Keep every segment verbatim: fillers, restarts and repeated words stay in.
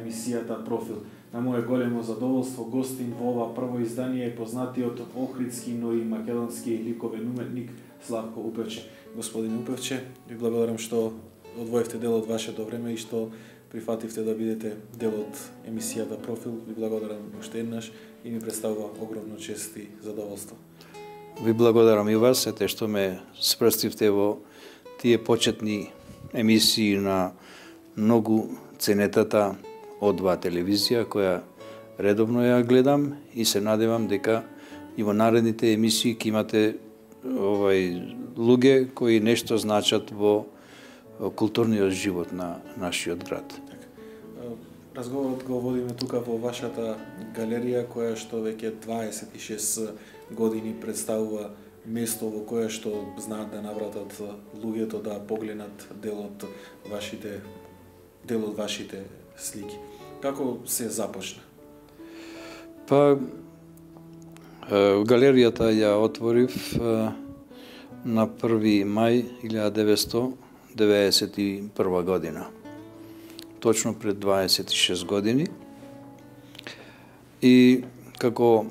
емисијата Профил. На мое големо задоволство гостин во ова прво издание е познатиот охридски, но и македонски ликовен уметник Славко Упевче. Господин Упевче, ви благодарам што одвоевте дел од вашето време и што прифативте да бидете дел од емисијата Профил. Ви благодарам уште еднаш и ми представува огромно чест и задоволство. Ви благодарам и вас, ете што ме спрстивте во тие почетни емисии на многу ценетата од два телевизија, која редовно ја гледам и се надевам дека и во наредните емисии ќе имате овај луѓе кои нешто значат во културниот живот на нашиот град. Разговорот го водиме тука во вашата галерија, која што веќе дваесет и шест години представува место во кое што знаат да навратат луѓето да погледнат дел од вашите дел од вашите слики. Како се започна? Па галеријата ја отворив на први мај илјада деветстотини деветдесет и прва година. Точно пред дваесет и шест години. И како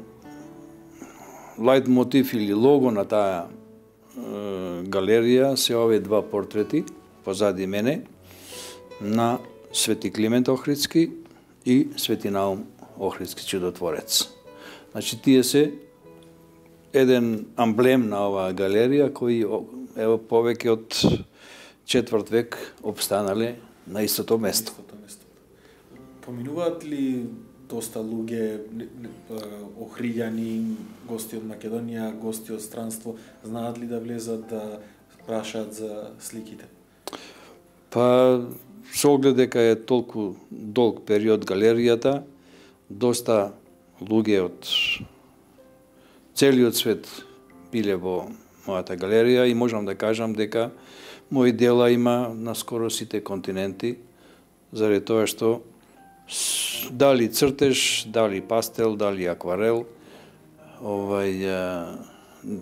лајт мотив или лого на таа е, галерија се овие два портрети позади мене на Свети Климент Охридски и Свети Наум Охридски чудотворец. Значи тие се еден амблем на оваа галерија кои ево повеќе од четврт век обстанале на истото место. Поминуваат ли доста луѓе, охриѓани, гости од Македонија, гости од странство, знаат ли да влезат да прашаат за сликите? Па, со оглед дека е толку долг период галеријата, доста луѓе од целиот свет биле во мојата галерија и можам да кажам дека мои дела има на скоро сите континенти, заради тоа што дали цртеж, дали пастел, дали акварел, овај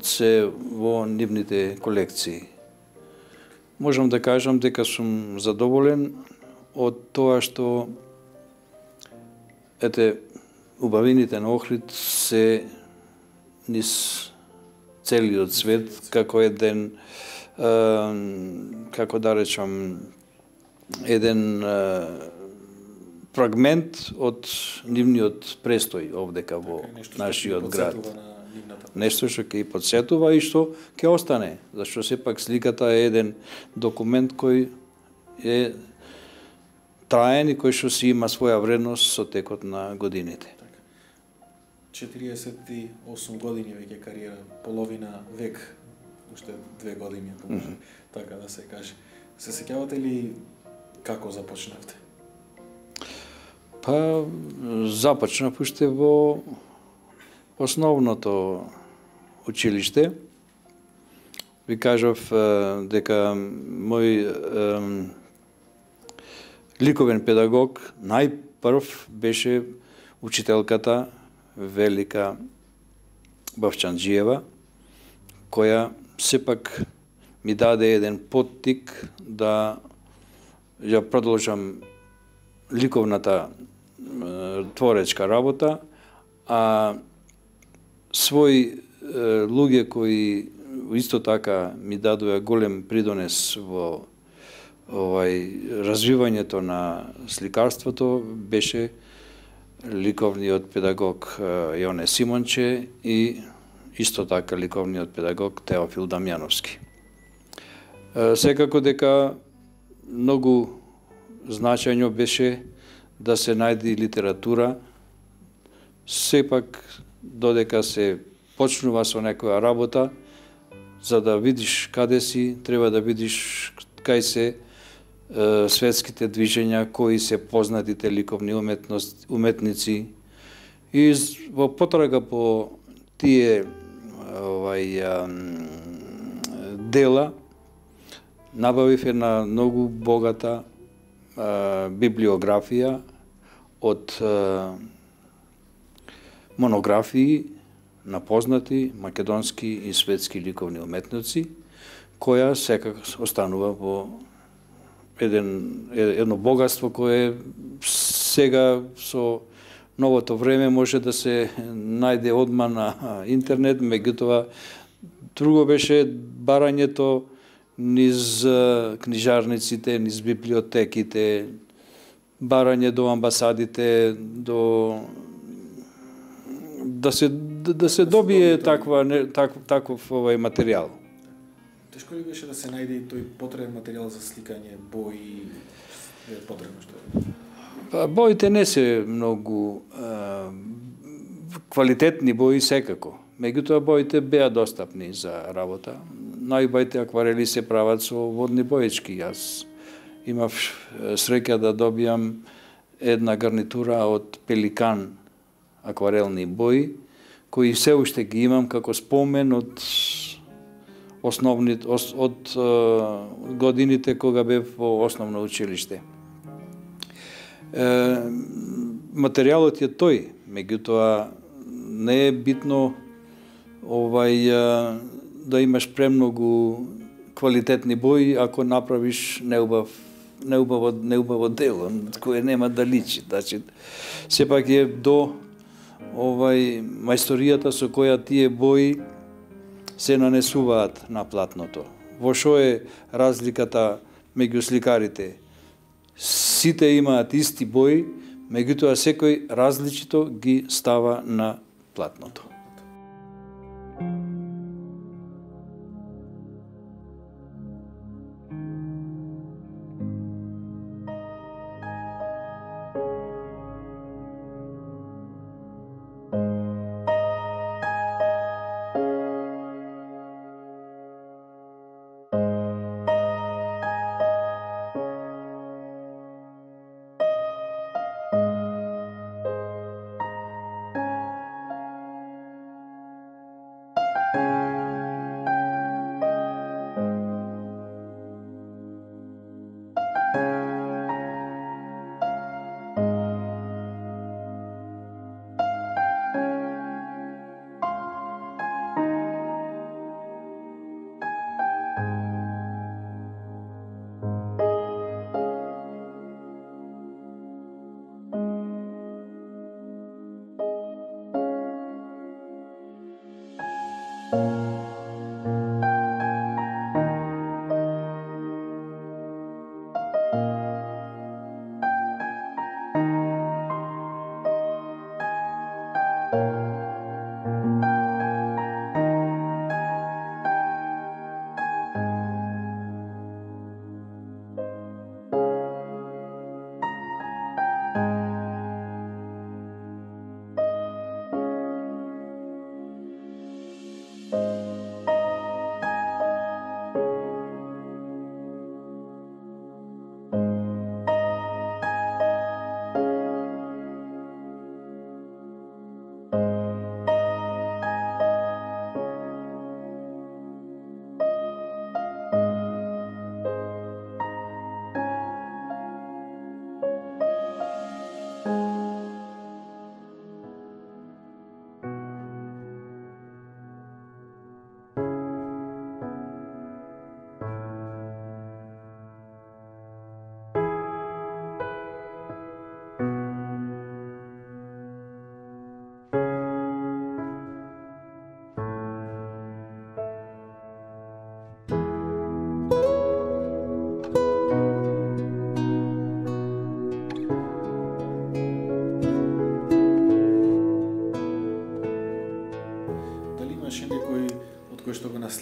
се во нивните колекции. Можам да кажам дека сум задоволен од тоа што ете убавините на Охрид се низ целиот свет како еден како да речам еден фрагмент од нивниот престој овдека во нашиот град. Нешто што ќе подсетува и што ќе остане, зашто сепак сликата е еден документ кој е траен и кој што си има своја вредност со текот на годините. четириесет и осум години веќе кариера, половина век, уште две години, ако може, mm -hmm. така да се каже. Се сеќавате ли како започнавте? Па, започнав уште во основното училиште. Ви кажав дека мој е, ликовен педагог најпрв беше учителката Велика Бавчанџиева, која сепак ми даде еден поттик да ја продолжам ликовната е, творечка работа, а свој е, луѓе кои исто така ми дадоа голем придонес во овај развивањето на сликарството беше ликовниот педагог Јоне Симонче и исто така ликовниот педагог Теофил Дамјановски. Секако дека многу значајно беше да се најде литература, сепак додека се почнува со некоја работа, за да видиш каде си, треба да видиш кај се е, светските движења, кои се познатите ликовни уметници. И во потрага по тие овај, а, дела, набавив една многу богата а, библиографија од а, монографии на познати македонски и светски ликовни уметници, која секак останува во еден едно богатство кое сега со новото време може да се најде одма на интернет, меѓутоа друго беше барањето низ книжарниците, низ библиотеките, барање до амбасадите, до да се да се добие таква так, таков овај материјал. Тешко ли беше да се најде и тој потребен материјал за сликање, бои, е потребно што е? Па, боите не се многу а, квалитетни бои секако. Меѓутоа боите беа достапни за работа. Најубавите акварели се прават со водни боечки. Јас имав среќа да добијам една гарнитура од Пеликан акварелни бои, кои се уште ги имам како спомен од основни од, од, од годините кога бев во основно училиште. Е, материјалот е тој, меѓутоа не е битно овај да имаш премногу квалитетни бои ако направиш неубав неубаво неубаво дело кое нема да личи. Значи сепак е до овај мајсторијата со која тие бои се нанесуваат на платното. Во што е разликата меѓу сликарите? Сите имаат исти бои, меѓутоа секој различито ги става на платното.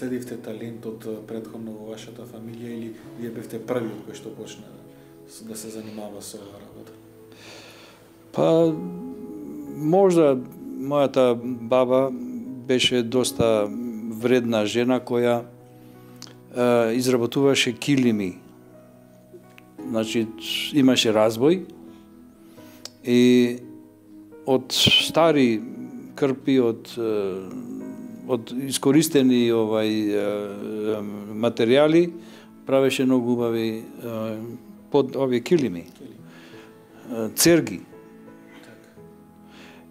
наследивте талентот претходно во вашата фамилија или вие бевте првиот кој што почна да се занимава со оваа работа? Па, можда мојата баба беше доста вредна жена која е, изработуваше килими. Значи, имаше разбој и од стари крпи, од од искористени овај материјали правеше многу убави под овие килими, церги.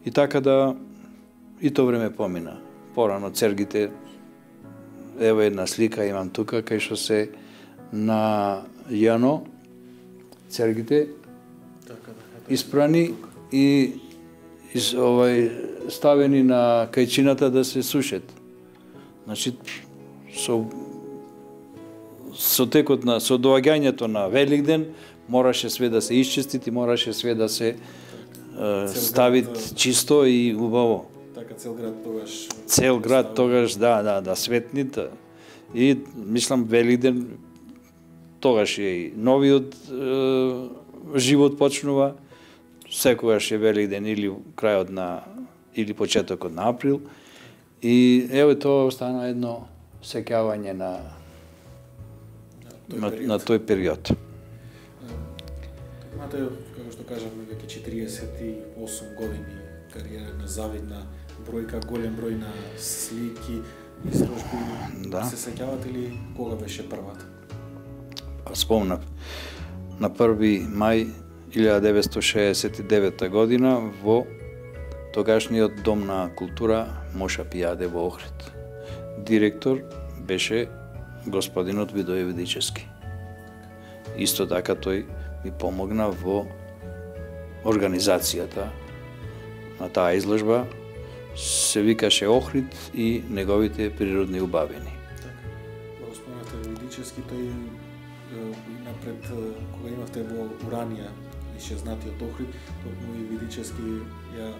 И така да и тоа време помина. Порано цергите, ево една слика имам тука кај што се на јано цергите Така да. испрани и из, овај ставени на кајчината да се сушат. Значи со со текот на со доаѓањето на Великден мораше све да се исчисти и мораше све да се е, стави чисто и убаво. Така цел град тогаш Цел град тогаш да да да светни и мислам Великден тогаш е и новиот е, живот почнува. Секогаш е Великден или крајот на или почетокот на април. И еве тоа стана едно сеќавање на на, на тој период. Имате, како што кажавме, веќе четириесет и осум години кариера на завидна бројка, голем број на слики, изложби. Да. Се сеќавате ли кога беше првата? Спомнав. На први мај илјада деветстотини шеесет и девета година во тогашниот Дом на култура Моша Пијаде во Охрид. Директор беше господинот Видоје Видичевски. Исто така тој ми помогна во организацијата на таа изложба. Се викаше Охрид и неговите природни убавини. Така. Го спомнате Видичевски, тој напред кога имавте во Уранија исчезнатиот Охрид, токму и Видичевски ја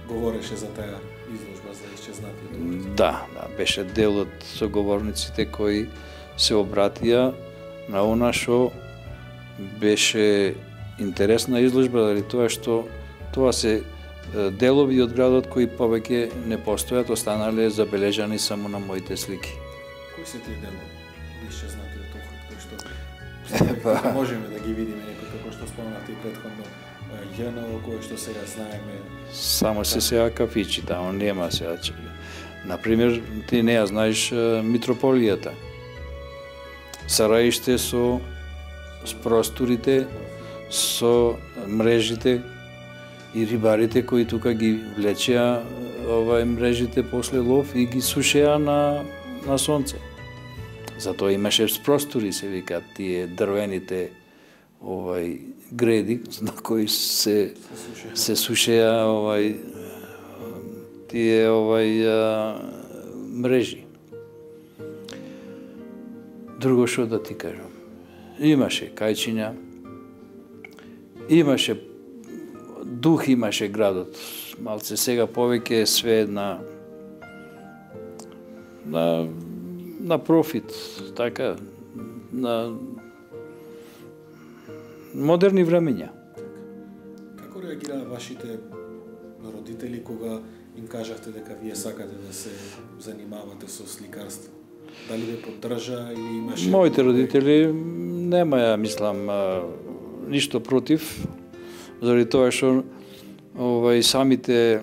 говореше за таа изложба за исчезнатиот Охрид. Да, да, беше дел од соговорниците кои се обратија на она што беше интересна изложба, заради тоа што тоа се делови од градот кои повеќе не постојат, останале забележани само на моите слики. Кои се тие делови исчезнатиот Охрид, кои што можеме да ги видиме некои, како што спомнавте и претходно ЈНО, кое што сега знаеме? Само се сега кафичи, тамо нема сега. Например, ти не ја знаеш Митрополијата. Сараиште со с просторите, со мрежите и рибарите кои тука ги влечеа овај мрежите после лов и ги сушеа на на сонце. Затоа имаше простори, се викаат тие дрвените овај греди на кои се се сушеа овај тие овај а, мрежи. Друго што да ти кажам. Имаше кајчиња, имаше дух, имаше градот. Малце сега повеќе све на на на профит, така на модерни времења. Како реагираа вашите родители кога им кажавте дека вие сакате да се занимавате со сликарство? Дали ве поддржа или имаше... Моите родители немаја, мислам, ништо против, заради тоа што овај самите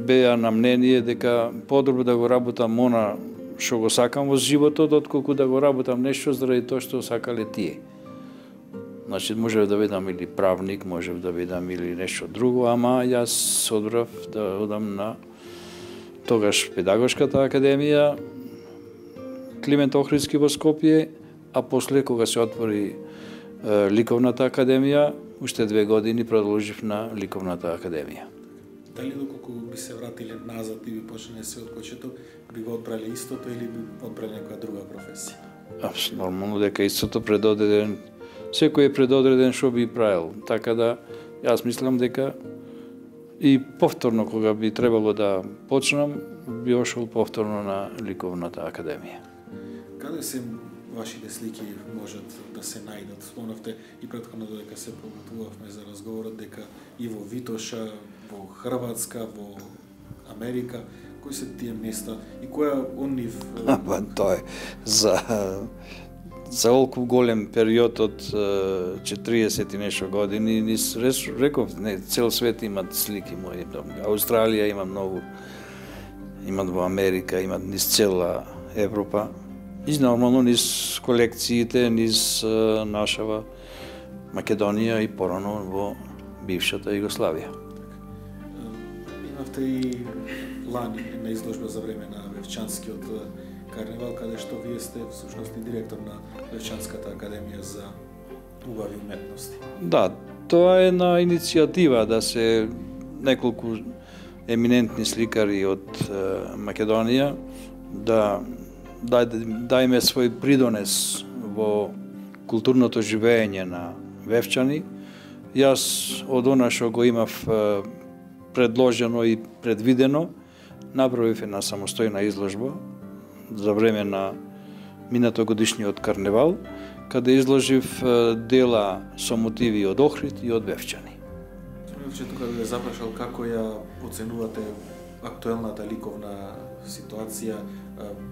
беа на мнение дека подобро да го работам она што го сакам во животот, отколку да го работам нешто заради тоа што сакале тие. Значи, можев да бидам или правник, можев да бидам или нешто друго, ама јас одбрав да одам на тогаш Педагошката академија, Климент Охридски во Скопје, а после кога се отвори е, Ликовната академија, уште две години продолжив на Ликовната академија. Дали доколку би се вратиле назад и би почнале се од почеток, би го одбрале истото или би одбрале некоја друга професија? А, нормално дека истото предодреден, секој е предодреден што би правил. Така да, јас мислам дека и повторно кога би требало да почнам, би ошол повторно на Ликовната академија. Каде се вашите слики можат да се најдат? Спомнавте и претходно додека се подготвувавме за разговорот дека и во Витоша, во Хрватска, во Америка, кои се тие места и која од нив? Па тоа е за за олку голем период од четириесет и нешто години, нис реков, не, цел свет имат слики мои. Австралија има многу, имат во Америка, имат низ цела Европа. И нормално низ колекциите, низ нашава Македонија и порано во бившата Југославија. Имавте и лани на изложба за време на Вевчанскиот карневал, каде што вие сте всушност и директор на Вевчанската академија за убави уметности. Да, тоа е една иницијатива да се неколку еминентни сликари од Македонија да дајме свој придонес во културното живење на Вевчани. Јас од она што го имав предложено и предвидено, направив една самостојна изложба за време на минатогодишниот карневал, каде изложив дела со мотиви од Охрид и од Вевчани. Че тука би ве запрашал како ја оценувате актуелната ликовна ситуација,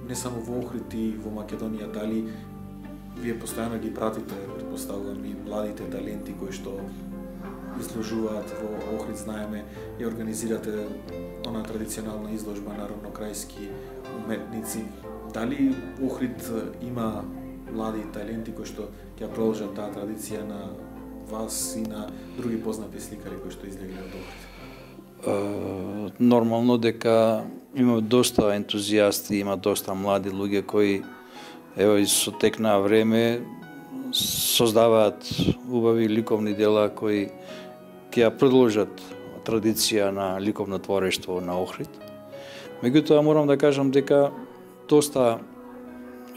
не само во Охрид и во Македонија, дали вие постојано ги пратите, претпоставувам, и младите таленти кои што изложуваат во Охрид, знаеме, и организирате она традиционална изложба на равнокрајски уметници. Дали Охрид има млади таленти кои што ќе продолжат таа традиција на вас и на други познати сликари кои што излегли од Охрид? Нормално дека има доста ентузијасти, има доста млади луѓе кои ево и со тек на време создаваат убави ликовни дела кои ќе ја продолжат традиција на ликовно творештво на Охрид. Меѓутоа морам да кажам дека доста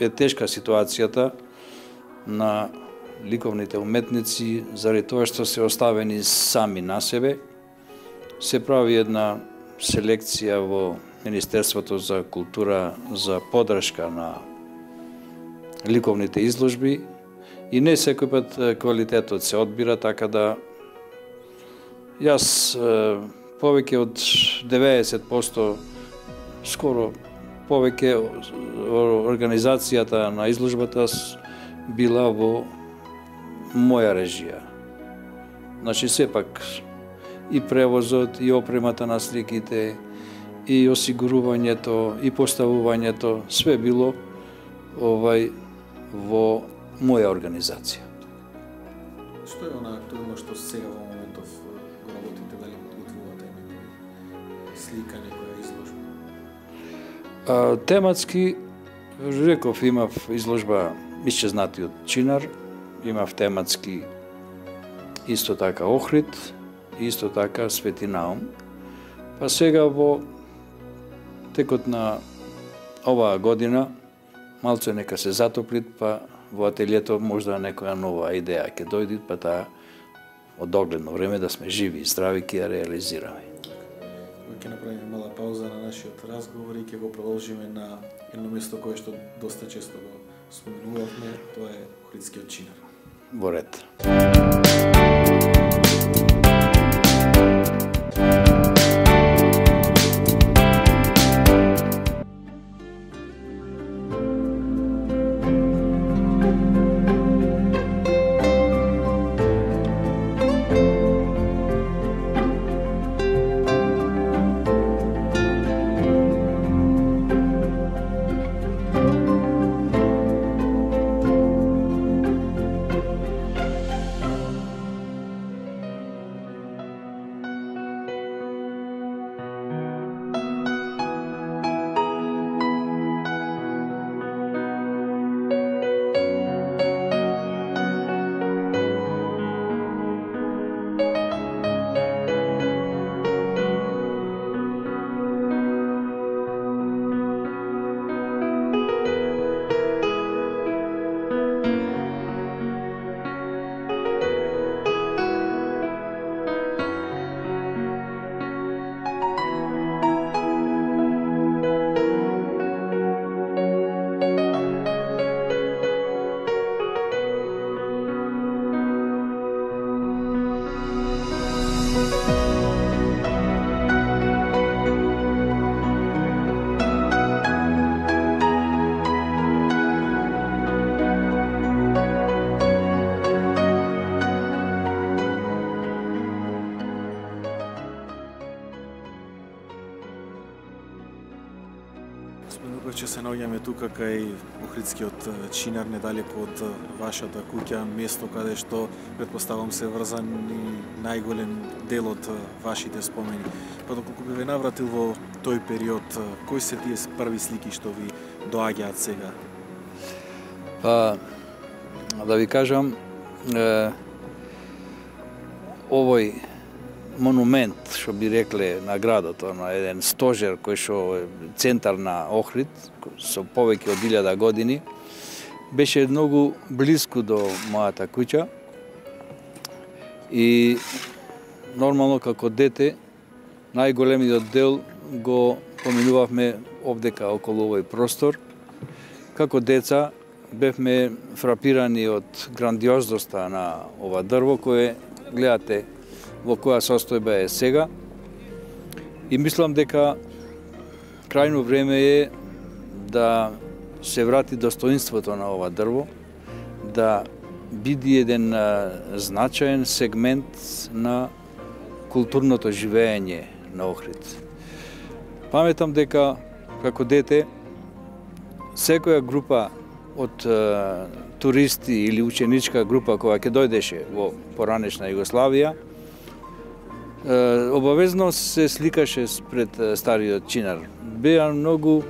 е тешка ситуацијата на ликовните уметници заради тоа што се оставени сами на себе. Се прави една селекција во Министерството за култура за поддршка на ликовните изложби и не секој пат квалитетот се одбира, така да јас повеќе од деветдесет проценти скоро повеќе организацијата на изложбата била во моја режија. Значи сепак и превозот, и опремата на сликите, и осигурувањето, и поставувањето, све било овај во моја организација. Што е она актуелно што сега во моментов го работите, дали подготвувате некој слика, некоја изложба? А, тематски, реков, имав изложба Исчезнатиот чинар, имав тематски исто така Охрид, исто така Свети Наум. Па сега во текот на оваа година малце нека се затоплит, па во ателието можда некоја нова идеја ќе дојде, па таа од догледно време да сме живи и здрави ќе ја реализираме. Ќе направиме мала пауза на нашиот разговор и ќе го продолжиме на едно место кое што доста често го споменувавме, тоа е Охридскиот чинар. Во ред. Че се наоѓаме тука кај Охридскиот чинар, недалеку од вашата куќа, место каде што претпоставам се врзан и најголем дел од вашите спомени. Па доколку би ве навратил во тој период, кои се тие први слики што ви доаѓаат сега? Па, да ви кажам, е, овој монумент, што би рекле на градот, на еден стожер кој што е центар на Охрид, со повеќе од илјада години, беше многу блиску до мојата куќа и нормално како дете најголемиот дел го поминувавме овдека околу овој простор. Како деца бевме фрапирани од грандиозноста на ова дрво кое гледате во која состојба е сега. И мислам дека крајно време е да се врати достоинството на ова дрво, да биде еден значаен сегмент на културното живење на Охрид. Паметам дека како дете секоја група од е, туристи или ученичка група која ќе дојдеше во поранешна Југославија, е, обавезно се сликаше пред стариот чинар. Беа многу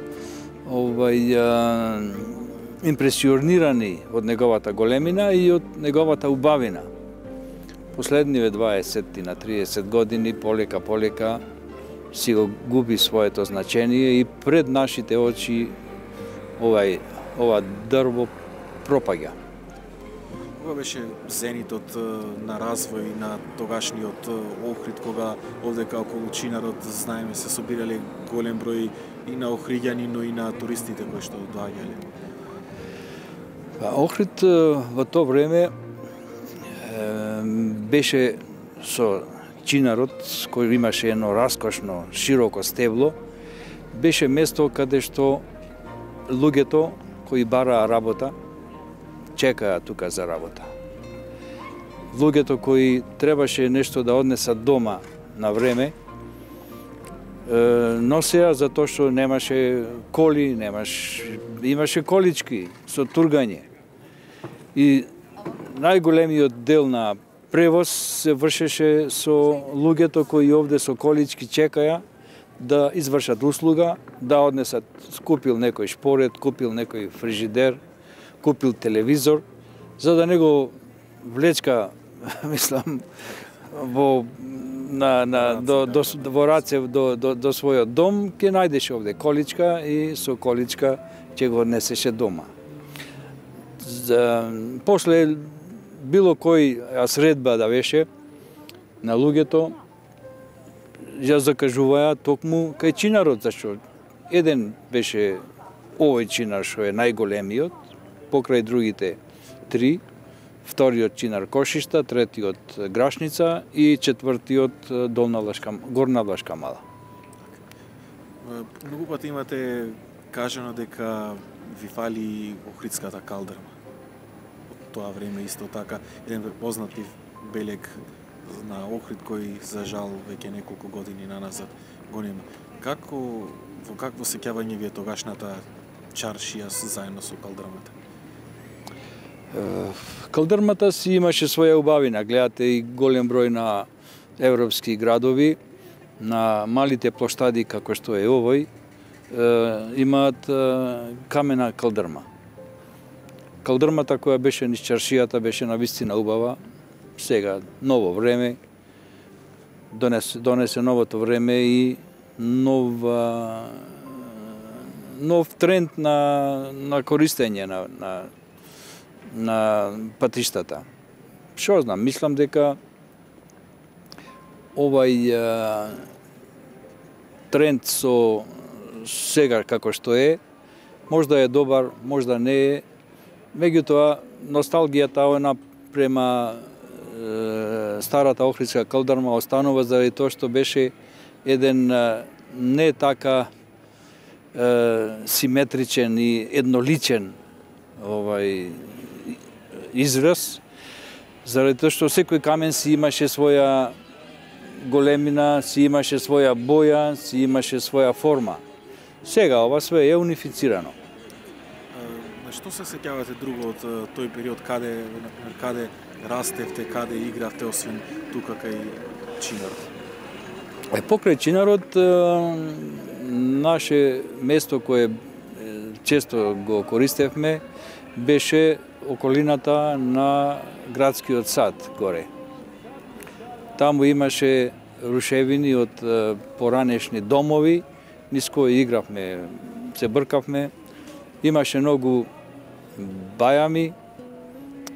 овај е, импресионирани од неговата големина и од неговата убавина. Последниве дваесет на триесет години полека полека си го губи своето значение и пред нашите очи овај ова дрво пропаѓа. Кога беше зенитот на развој на тогашниот Охрид, кога овдека околу чинарот, знаеме, се собирале голем број и на охриѓани, но и на туристите кои што доаѓале? Охрид во тоа време беше со чинарот, кој имаше едно раскошно, широко стебло, беше место каде што луѓето кои бараа работа, чекаа тука за работа. Луѓето кои требаше нешто да однесат дома на време, носеа затоа што немаше коли, немаш, имаше колички со тургање. И најголемиот дел на превоз се вршеше со луѓето кои овде со колички чекаја да извршат услуга, да однесат, купил некој шпорет, купил некој фрижидер, купил телевизор, за да не го влечка, мислам, во на на до до во раце до до до својот дом, ќе најдеше овде количка и со количка ќе го однесеше дома. За, после било кој средба да беше на луѓето, ја закажуваја токму кај чинарот, зашто еден беше овој чинар што е најголемиот, покрај другите три, вториот чинар Кошишта, третиот Грашница и четвртиот Долна Влашка, Горна Влашка Мала. Многу пати имате кажано дека ви фали охридската калдрма. Од тоа време исто така еден познати белег на Охрид кој за жал веќе неколку години наназад го нема. Како во какво сеќавање ви е тогашната чаршија заедно со калдрмата? Калдрмата си имаше своја убавина. Гледате и голем број на европски градови, на малите площади како што е овој, имаат камена калдрма. Калдрмата која беше низ чаршијата беше навистина убава. Сега ново време, донесе, донесе новото време и нова, нов тренд на, на користење на, на, на патиштата. Што знам, мислам дека овај а, тренд со сега како што е, можда е добар, можда не е, меѓутоа носталгијата она према старата охридска калдрма останува заради тоа што беше еден не така е, симетричен и едноличен овај израз, заради тоа што секој камен си имаше своја големина, си имаше своја боја, си имаше своја форма. Сега ова све е унифицирано. На што се сеќавате друго од тој период, каде каде растевте, каде игравте, освен тука кај чинарот? Е, покрај чинарот, наше место кое често го користевме беше околината на градскиот сад горе. Таму имаше рушевини од поранешни домови, низ кои игравме, се бркавме. Имаше многу бајами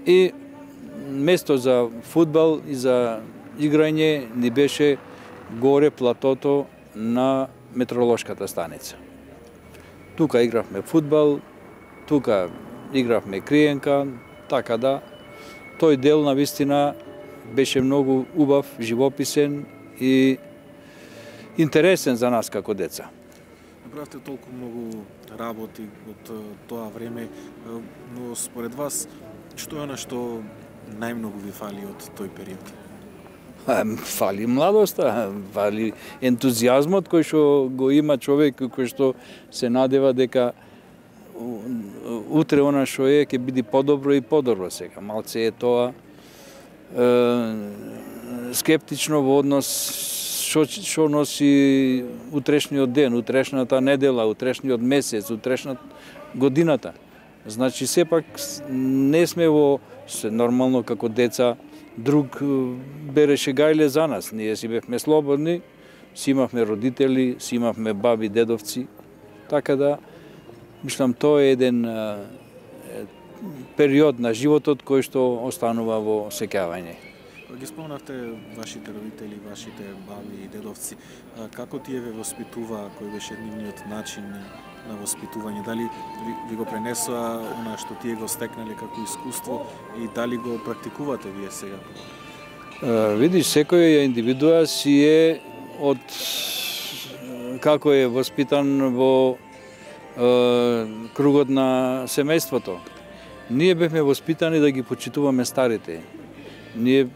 и место за фудбал и за играње ни беше горе платото на метеоролошката станица. Тука игравме фудбал, тука игравме криенка, така да тој дел на вистина беше многу убав, живописен и интересен за нас како деца. Направите толку многу работи од тоа време, но според вас, што е она што најмногу ви фали од тој период? Фали младоста, фали ентузијазмот кој што го има човек, кој што се надева дека утре она што е ќе биде подобро и подобро сега. Малце е тоа е, скептично во однос што што носи утрешниот ден, утрешната недела, утрешниот месец, утрешната годината. Значи сепак не сме во се нормално како деца, друг береше гајле за нас. Ние си бевме слободни, си имавме родители, си имавме баби, дедовци. Така да, мислам, тоа е еден е, период на животот кој што останува во сеќавање. Ги спомнавте вашите родители, вашите баби и дедовци. Како тие ве воспитуваа, кој беше нивниот начин на воспитување? Дали ви, ви го пренесоа она што тие го стекнале како искуство и дали го практикувате вие сега? Uh, видиш, секој индивидуа си е од како е воспитан во uh, кругот на семејството. Ние бевме воспитани да ги почитуваме старите. Ние,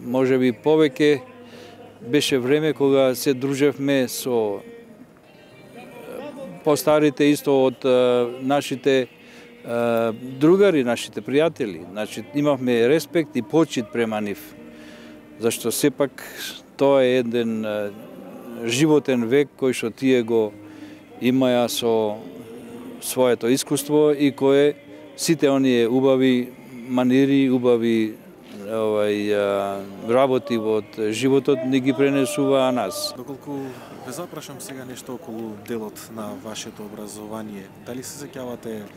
може би, повеќе беше време кога се дружевме со постарите исто од нашите другари, нашите пријатели. Значи, имавме респект и почит према нив. Зашто сепак тоа е еден животен век кој што тие го имаја со своето искуство и кое сите оние убави манири, убави овај работи од животот ни ги пренесуваа нас. Доколку ве запрашам сега нешто околу делот на вашето образование, дали се сеќавате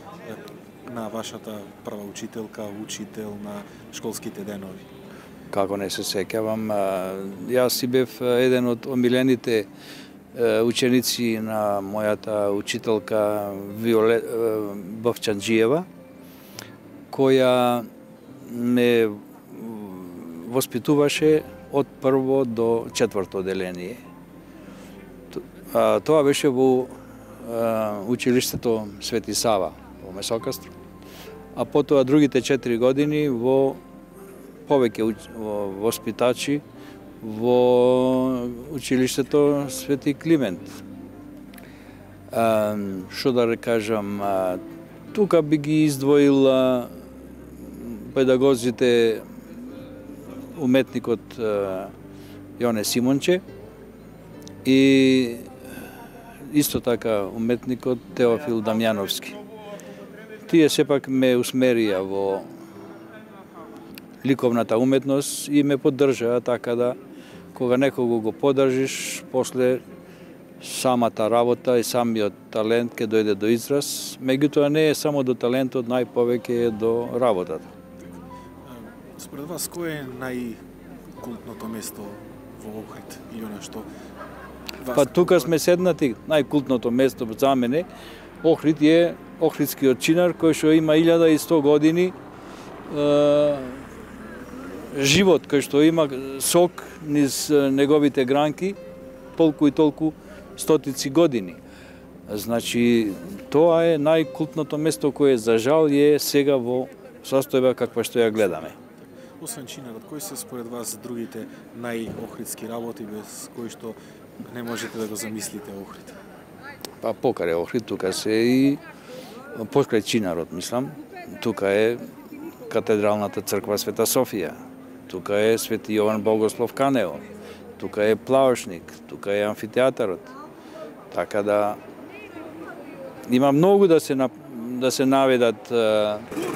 на вашата прва учителка, учител на школските денови? Како не се сеќавам, јас си бев еден од омилените ученици на мојата учителка Виолет Бовчанџиева, која ме воспитуваше од прво до четврто одделение. Тоа беше во училиштето Свети Сава во Месокастро, а потоа другите четири години во повеќе воспитачи во училиштето Свети Климент. Што да кажам, тука би ги издвоил педагозите, уметникот Јоне Симонче и исто така уметникот Теофил Дамјановски. Тие сепак ме усмерија во ликовната уметност и ме поддржаа, така да кога некого го поддржиш, после самата работа и самиот талент ќе дојде до израз, меѓутоа не е само до талентот, најповеќе е до работата. Според вас, кој е најкултното место во Охрид или она што? Па тука сме седнати, најкултното место за мене, Охрид е Охридскиот чинар кој што има илјада и сто години е, живот, кој што има сок низ неговите гранки, толку и толку стотици години. Значи, тоа е најкултното место кое за жал е сега во состојба каква што ја гледаме. Освен чинарот, кои се според вас другите најохридски работи без кои што не можете да го замислите Охрид? Па покрај Охрид тука се и покрај чинарот, мислам, тука е катедралната црква Света Софија, тука е Свети Јован Богослов Канео, тука е Плаошник, тука е амфитеатарот. Така да има многу да се да се наведат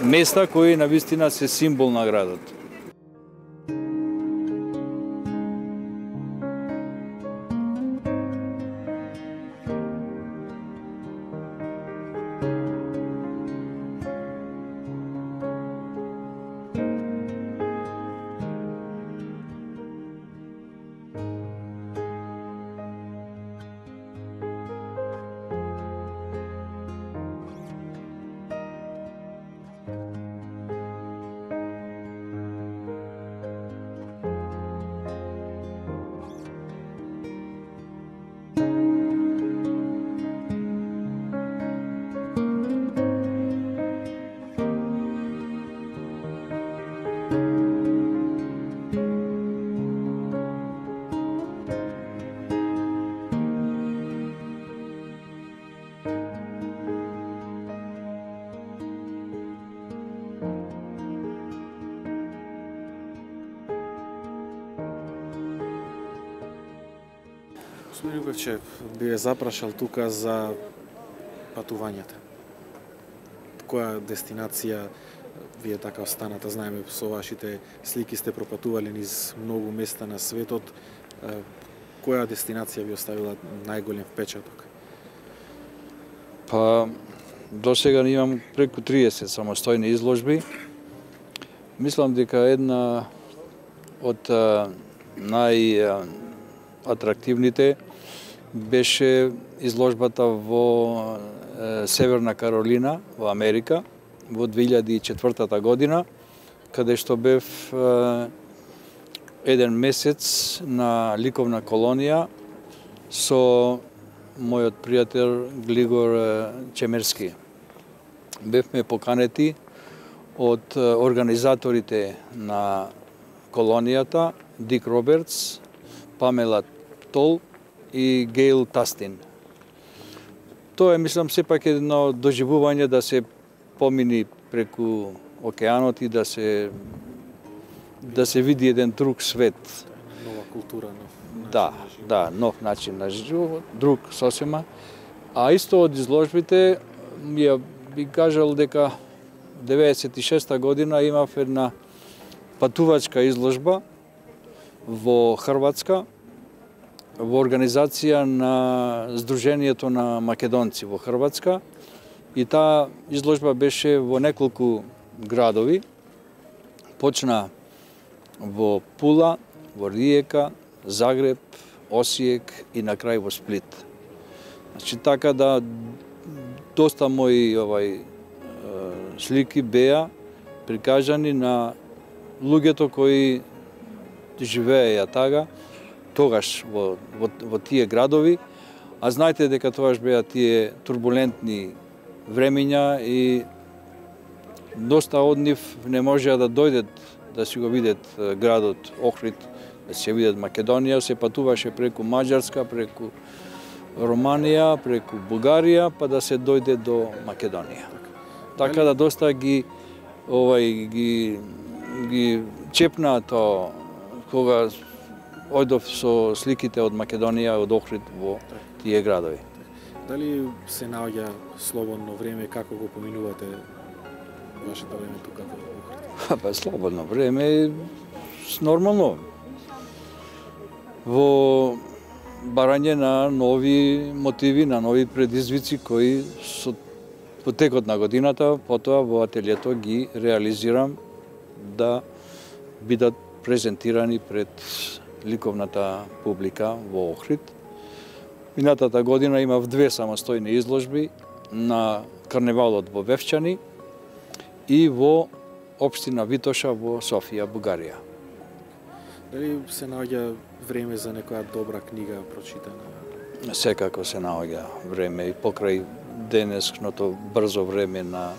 места кои навистина се символ на градот. Господин Љубевче, би ве запрашал тука за патувањата. Која дестинација вие така останата, знаеме со вашите слики сте пропатували низ многу места на светот. Која дестинација ви оставила најголем впечаток? Па, до сега имам преку триесет самостојни изложби. Мислам дека една од најатрактивните беше изложбата во Северна Каролина, во Америка, во две илјади и четвртата година, каде што бев еден месец на ликовна колонија со мојот пријател Глигор Чемерски. Бевме поканети од организаторите на колонијата, Дик Робертс, Памела Тол и Гейл Тастин. Тоа е, мислам, сепак едно доживување да се помини преку океанот и да се да се види еден друг свет. Нова култура, нов начин да, на живот. Да, нов начин на живот, друг сосема. А исто од изложбите, ја би кажал дека деветдесет и шеста година имав една патувачка изложба во Хрватска, во организација на Сдруженијето на македонци во Хрватска, и таа изложба беше во неколку градови. Почна во Пула, во Риека, Загреб, Осиек и на крај во Сплит. Значи така да доста мои овај слики беа прикажани на луѓето кои живееја тага тогаш во, во, во тие градови, а знаете дека тогаш беа тие турбулентни времиња и доста од нив не можеа да дојдат да си го видат градот Охрид, да си видат Македонија, се патуваше преку Маđарска, преку Романија, преку Бугарија, па да се дојде до Македонија. Така да доста ги овај ги ги чепна тоа кога одов со сликите од Македонија, од Охрид во тие градови. Дали се наоѓа слободно време, како го поминувате вашето време тука во Охрид? Па слободно време е нормално. Во барање на нови мотиви, на нови предизвици кои со во текот на годината, потоа во ателието ги реализирам да бидат презентирани пред ликовната публика во Охрид. Минатата година имав две самостојни изложби на карневалот во Вевчани и во општина Витоша во Софија, Бугарија. Дали се наоѓа време за некоја добра книга прочитана? Секако се наоѓа време и покрај денешното брзо време на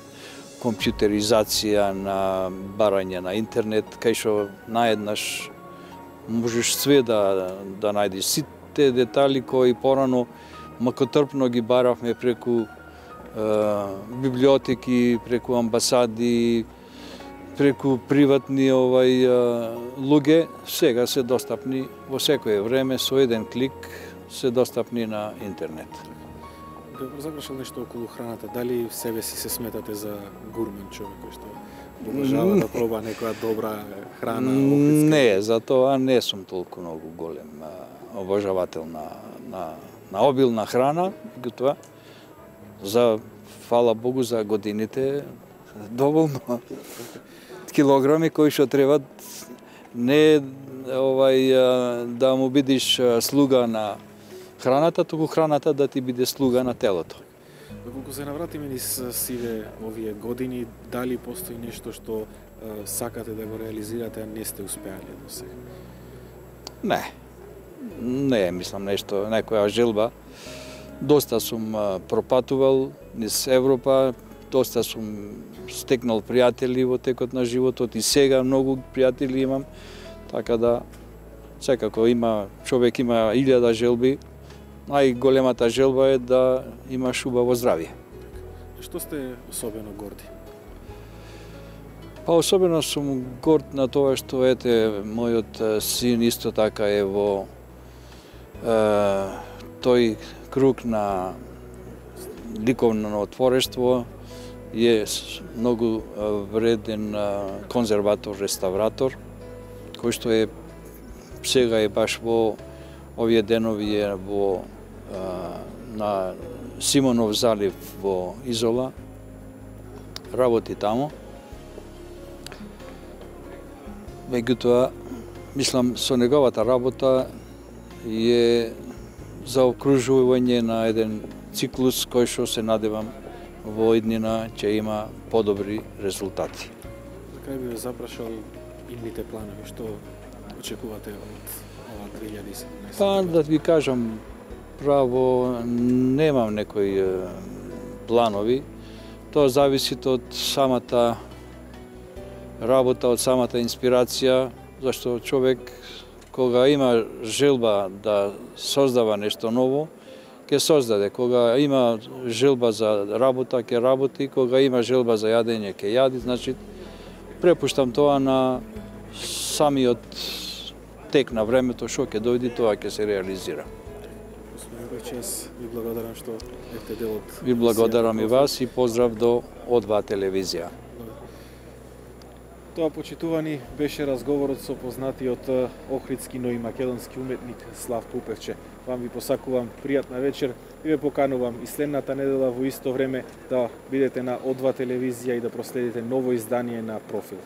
компјутеризација, на барање на интернет, кај што наеднаш можеш све да, да најдеш. Сите детали кои порано макотрпно ги баравме преку е, библиотеки, преку амбасади, преку приватни овај луѓе, сега се достапни во секое време, со еден клик се достапни на интернет. Да запрашал нешто околу храната. Дали в себе си се сметате за гурмен човек кој што обожава да проба некоја добра храна? Охридска? Не, за тоа не сум толку многу голем а, обожавател на, на, на обилна храна. Тоа, за, фала Богу, за годините доволно килограми кои што требат, не овај да му бидиш слуга на храната, туку храната да ти биде слуга на телото. Доколку се навратиме низ сиве овие години, дали постои нешто што е, сакате да го реализирате, а не сте успеале до сега? Не. Не, мислам нешто, некоја желба. Доста сум а, пропатувал низ Европа, доста сум стекнал пријатели во текот на животот и сега многу пријатели имам, така да секако има човек има илјада желби. Најголемата желба е да имаш убаво здравје. Што сте особено горди? Па особено сум горд на тоа што ете мојот син исто така е во е, тој круг на ликовно творештво, е многу вреден конзерватор, реставратор, кој што е сега е баш во овие денови е во а, на Симонов залив во Изола, работи таму. Меѓутоа, мислам, со неговата работа е заокружување на еден циклус кој што се надевам во иднина ќе има подобри резултати. За крај би ве запрашал идните планови, што очекувате од ова две илјади и седумнаесета? Па да ви кажам, право немам некои планови. Тоа зависи од самата работа, од самата инспирација, зашто човек кога има желба да создава нешто ново, ќе создаде. Кога има желба за работа, ќе работи, кога има желба за јадење, ќе јади. Значи, препуштам тоа на самиот тек на времето, што ќе дојде, тоа ќе се реализира. Господин Бекчес, ви благодарам што бевте дел од... Ви благодарам и вас и поздрав до О два телевизија. Тоа, почитувани, беше разговорот со познатиот охридски, но и македонски уметник Славко Упевче. Вам ви посакувам пријатна вечер и ве поканувам и следната недела во исто време да бидете на О два телевизија и да проследите ново издание на Профил.